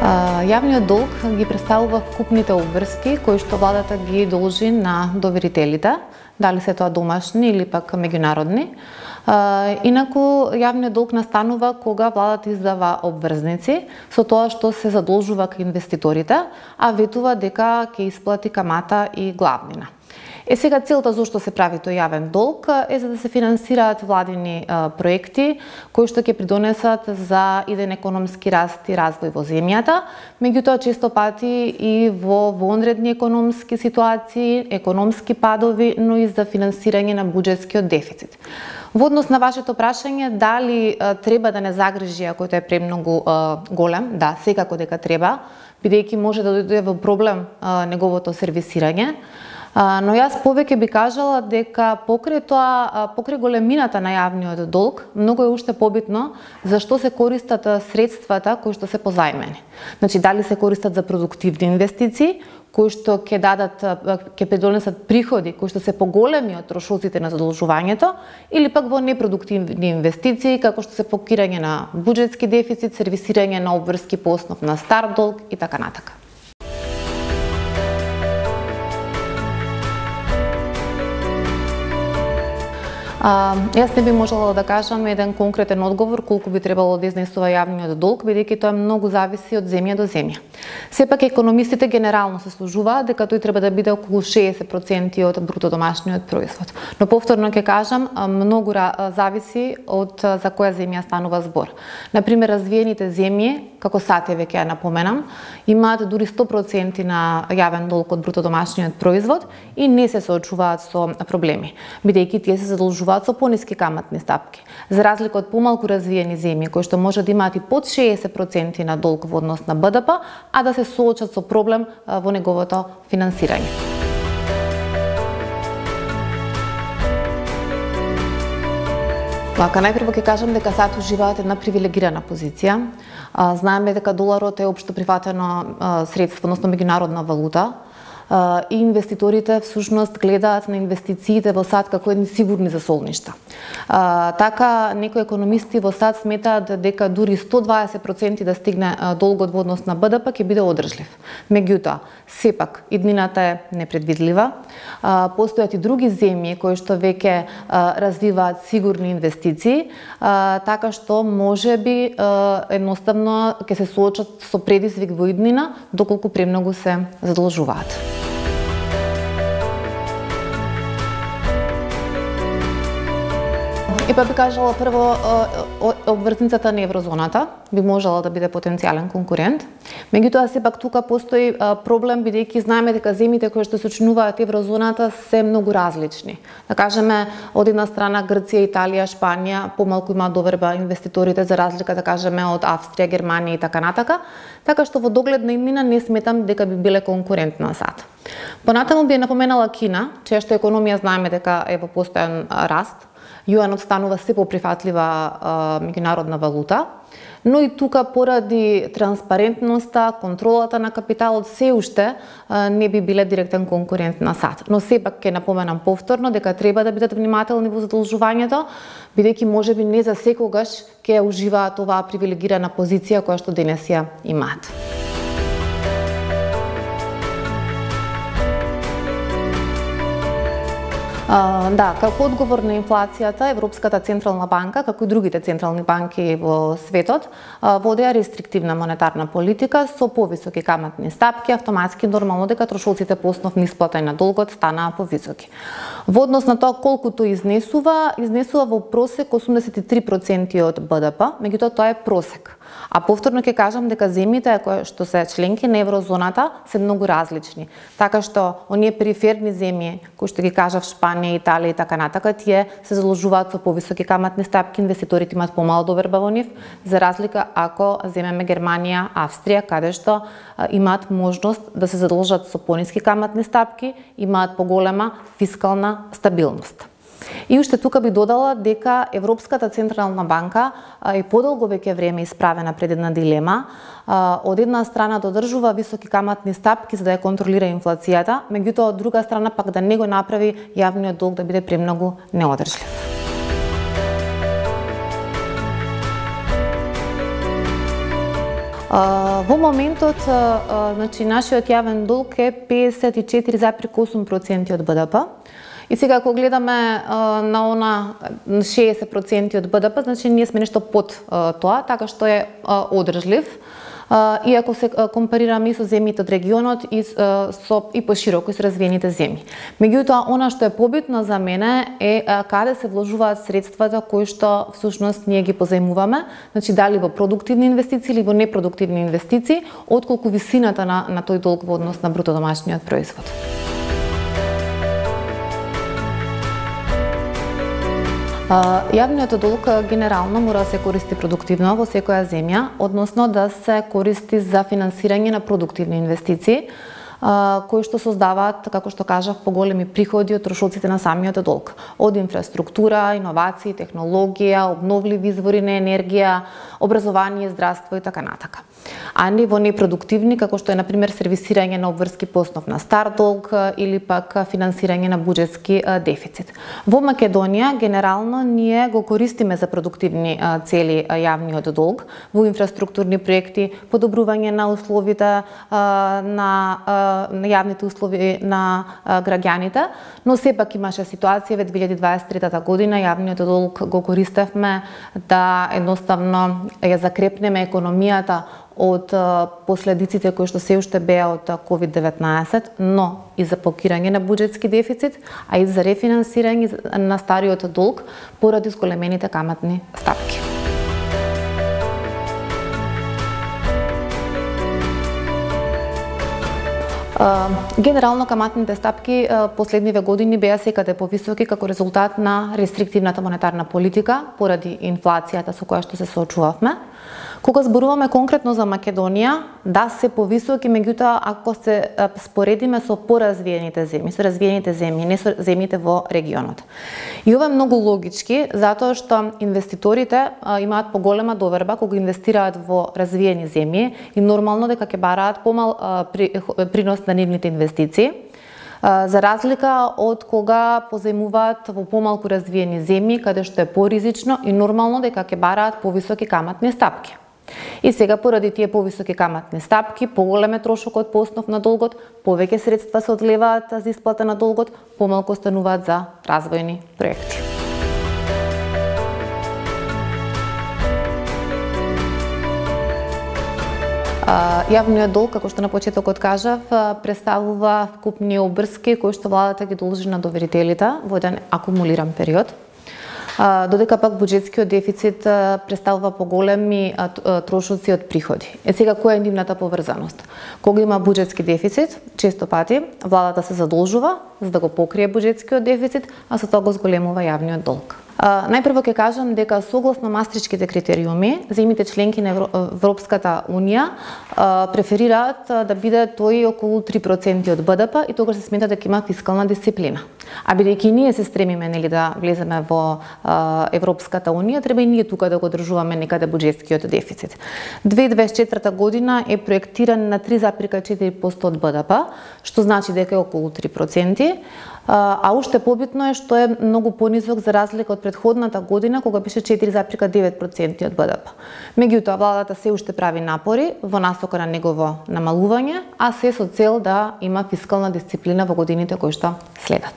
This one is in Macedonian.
Јавниот долг ги представува вкупните обврски кои што владата ги должи на доверителите, дали се тоа домашни или пак меѓународни. Инаку јавниот долг настанува кога владата издава обврзници со тоа што се задолжува кај инвеститорите, а ветува дека ќе исплати камата и главнина. Сега целта зошто се прави тој јавен долг е за да се финансираат владини проекти кои што ќе придонесат за иден економски раст и развој во земјата, меѓутоа често пати и во вонредни економски ситуации, економски падови, но и за финансирање на буџетскиот дефицит. Во однос на вашето прашање, дали треба да не загрижи ако тој е премногу голем? Да, секако дека треба, бидејќи може да дојде во проблем неговото сервисирање. Но јас повеќе би кажала дека покрај тоа, покрај големината на јавниот долг, многу е уште побитно зашто се користат средствата кои што се позајмени. Значи, дали се користат за продуктивни инвестиции, кои што ќе придонесат приходи кои што се поголеми од трошоците на задолжувањето, или пак во непродуктивни инвестиции, како што се покирање на буџетски дефицит, сервисирање на обврски по основ на стар долг и така натака. Јас не би можела да кажам еден конкретен одговор колку би требало да изнесува јавниот долг, бидејќи тоа многу зависи од земја до земја. Сепак економистите генерално се сложуваат дека тој треба да биде околу 60% од бруто домашниот производ. Но повторно ќе кажам, многу зависи од за која земја станува збор. Например, развиените земји, како САД веќе ја напоменам, имаат дури 100% на јавен долг од бруто домашниот производ и не се соочуваат со проблеми, бидејќи тие се задолжуваат со пониски каматни стапки. За разлика од помалку развиени земји кои што може да имаат и под 60% на долг во однос на БДП, а да се соочат со проблем во неговото финансирање. Најпрво ќе кажам дека САД уживаат една привилегирана позиција. Знаеме дека доларот е општо прифатено средство, односно меѓународна валута, и инвеститорите всушност гледаат на инвестициите во САД како едни сигурни засолништа. Така, некои економисти во САД сметаат дека дури 120% да стигне долгот во однос на БДП ќе биде одржлив. Меѓутоа, сепак, иднината е непредвидлива. Постојат и други земји кои што веќе развиваат сигурни инвестиции, така што можеби едноставно ќе се соочат со предизвик во иднина доколку премногу се задолжуваат. Па би кажала прво, обврзницата на еврозоната би можела да биде потенцијален конкурент. Меѓутоа, сепак тука постои проблем, бидејќи знаеме дека земјите кои што се учинуваат еврозоната се многу различни. Да кажеме, од една страна Грција, Италија, Шпанија помалку имаат доверба инвеститорите за разлика, да кажеме, од Австрија, Германија и така натака, така што во догледна иднина не сметам дека би биле конкурент на САД. Понатаму би напоменала Кина, чија што економија знаеме дека е во постојан раст. Јуанот станува се поприфатлива меѓународна валута, но и тука поради транспарентноста, контролата на капиталот се уште не би биле директен конкурент на САД. Но сепак ќе напоменам повторно дека треба да бидат внимателни во задолжувањето, бидејќи можеби не за секогаш ќе уживаат оваа привилегирана позиција која што денес ја имаат. Да, како одговор на инфлацијата, Европската централна банка, како и другите централни банки во светот, водеа рестриктивна монетарна политика со повисоки каматни стапки, автоматски нормално дека трошоците по основ на исплата на долгот станаа повисоки. Во однос на тоа колку тој изнесува во просек 83% од БДП, меѓутоа тоа е просек. А повторно ќе кажам дека земјите кои што се членки на еврозоната се многу различни. Така што оние периферни земји кои што ги кажав Шпанија, Италија и така натака, тие се заложуваат со повисоки каматни стапки, инвеститорите имаат помало доверба во нив, за разлика ако земеме Германија, Австрија, каде што имаат можност да се задолжат со пониски каматни стапки, имаат поголема фискална стабилност. И уште тука би додала дека Европската централна банка е подолго веќе време исправена пред една дилема. Од една страна да одржува високи каматни стапки за да ја контролира инфлацијата, меѓутоа од друга страна пак да не го направи јавниот долг да биде премногу неодржлив. Во моментот, значи, нашиот јавен долг е 54,8% од БДП. И сега, ако гледаме на она 60% од БДП, значи ние сме нешто под тоа, така што е одржлив. И ако се компарираме и со земјите од регионот и пошироко и со развиените земји. Меѓутоа, она што е побитно за мене е каде се вложуваат средствата кои што всушност ние ги позајмуваме, значи дали во продуктивни инвестиции или во непродуктивни инвестиции, отколку висината на тој долг во однос на бруто домашниот производ. Јавниот долг генерално мора да се користи продуктивно во секоја земја, односно да се користи за финансирање на продуктивни инвестиции, кои што создаваат, како што кажав, поголеми приходи од трошоците на самиот долг, од инфраструктура, иновации, технологија, обновливи извори на енергија, образование, здравство и така натака. А не во непродуктивни, како што е, например, сервисирање на обврски по основ на стар долг или пак финансирање на буџетски дефицит. Во Македонија, генерално, ние го користиме за продуктивни цели јавниот долг, во инфраструктурни проекти, подобрување на условите на јавните услови на граѓаните, но сепак имаше ситуација во 2023 година јавниот долг го користевме да едноставно ја закрепнеме економијата од последиците кои што се уште беа од COVID-19, но и за покирање на буџетски дефицит, а и за рефинансирање на стариот долг поради зголемените каматни стапки. Генерално каматните стапки последниве години беа секаде повисоки како резултат на рестриктивната монетарна политика поради инфлацијата со која што се соочувавме. Кога зборуваме конкретно за Македонија, да, се повисоки, меѓутоа ако се споредиме со поразвиените земји, со развиените земји, не со земјите во регионот. И ова е многу логички, затоа што инвеститорите имаат поголема доверба кога инвестираат во развиени земји и нормално дека ќе бараат помал принос на нивните инвестиции, за разлика од кога позајмуваат во помалку развиени земји, каде што е поризично и нормално дека ќе бараат повисоки каматни стапки. И сега, поради тие повисоки каматни стапки, поголем е трошокот по основ на долгот, повеќе средства се одлеваат за исплата на долгот, помалку остануваат за развојни проекти. Јавниот долг, како што на почетокот кажав, представува вкупни обврски кои што владата ги должи на доверителите во еден акумулиран период. Додека пак буџетскиот дефицит представува поголеми трошоци од приходи. Сега, која е нивната поврзаност? Кога има буџетски дефицит, често пати владата се задолжува за да го покрие буџетскиот дефицит, а со тоа го зголемува јавниот долг. Најпрво ќе кажам дека согласно мастричките критериуми, земјите членки на Европската унија преферираат да биде тој околу 3% од БДП и тогаш се смета дека има фискална дисциплина. А бидејќи ние се стремиме да влеземе во Европската унија, треба и ние тука да го одржуваме некаде буџетскиот дефицит. 2024 година е проектиран на 3,4% од БДП, што значи дека е околу 3%. А уште побитно е што е многу понизок за разлика од претходната година кога беше 4,9% од БДП. Меѓутоа, владата се уште прави напори во насока на негово намалување, а се со цел да има фискална дисциплина во годините кои што следат.